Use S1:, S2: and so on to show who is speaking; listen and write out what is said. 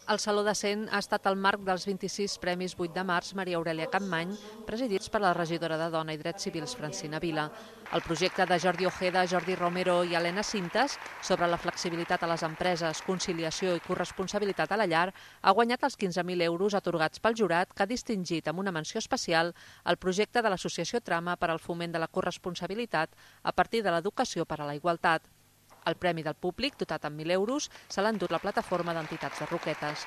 S1: El Saló de Cent ha estat el marc dels 26 Premis 8 de març Maria Aurèlia Capmany, presidits per la regidora de Dona i Drets Civils Francina Vila. El projecte de Jordi Ojeda, Jordi Romero i Helena Cintas sobre la flexibilitat a les empreses, conciliació i corresponsabilitat a la llar ha guanyat els 15.000 euros atorgats pel jurat, que ha distingit amb una menció especial el projecte de l'Associació Trama per al foment de la corresponsabilitat a partir de l'educació per a la igualtat. El premi del públic, dotat amb 1.000 euros, se l'ha endut la plataforma d'entitats de Roquetes.